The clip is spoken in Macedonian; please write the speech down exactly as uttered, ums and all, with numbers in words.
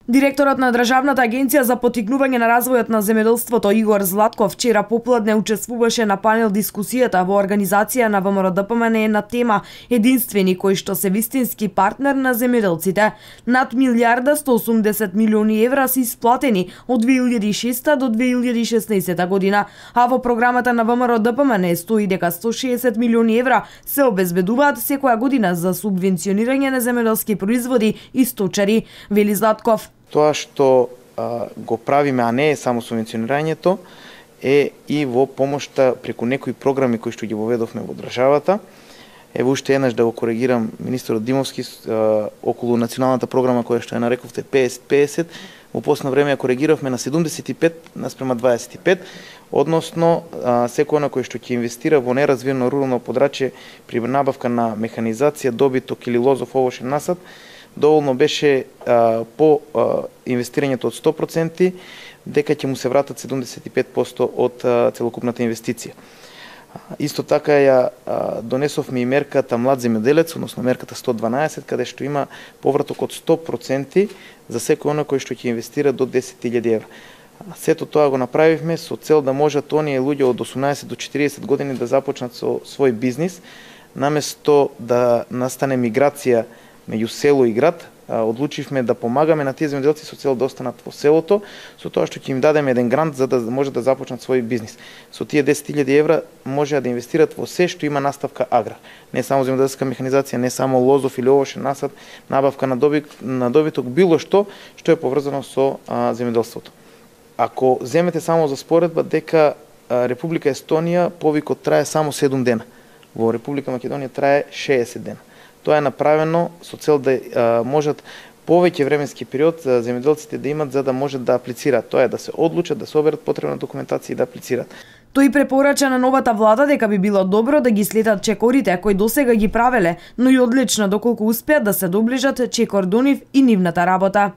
Директорот на Државната агенција за поттикнување на развојот на земјоделството Игор Златков вчера попладне учествуваше на панел дискусијата во организација на ВМРО-ДПМНЕ на тема единствени кои што се вистински партнер на земјоделците. Над милијарда сто и осумдесет милиони евра се исплатени од две илјади и шеста до две илјади и шеснаесетта година, а во програмата на ВМРО-ДПМНЕ стои дека сто и шеесет милиони евра се обезбедуваат секоја година за субвенционирање на земјоделски производи и сточари, вели Златков. Тоа што а, го правиме, а не е само субвенционирањето, е и во помошта преку некои програми кои што ги воведовме во државата. Ево уште еднаш да го коригирам министерот Димовски а, околу националната програма која што ја нарековте петдесет петдесет, во последно време ја коригиравме на седумдесет и пет наспрема дваесет и пет, односно а, секој на кој што ќе инвестира во неразвиено рурално подрачје при набавка на механизација, добиток или лозов овошен насад, доволно беше а, по а, инвестирањето од сто проценти, дека ќе му се вратат седумдесет и пет проценти од а, целокупната инвестиција. А, исто така ја а, донесовме и мерката млад земјоделец, односно мерката сто дванаесет, каде што има повраток од сто проценти за секој оној кој што ќе инвестира до десет илјади евра. Сето тоа го направивме со цел да можат оние луѓе од осумнаесет до четириесет години да започнат со свој бизнис, наместо да настане миграција меѓу село и град. Одлучивме да помагаме на тие земјоделци со цел да останат во селото, со тоа што ќе им дадеме еден грант за да може да започнат свој бизнис. Со тие десет илјади евра може да инвестират во се што има наставка аграр. Не само земјоделска механизација, не само лозов или овошен насад, набавка на добиток, на добиток, било што што е поврзано со а, земјоделството. Ако земете само за споредба дека а, Република Естонија повикот трае само седум дена, во Република Македонија трае шеесет дена. Тоа е направено со цел да а, можат повеќе временски период за земјоделците да имат за да можат да аплицираат. Тоа е да се одлучат, да соберат потребна документација и да аплицираат. Тој препорача на новата влада дека би било добро да ги следат чекорите кои досега ги правеле, но и одлично доколку успеат да се доближат чекор до нив и нивната работа.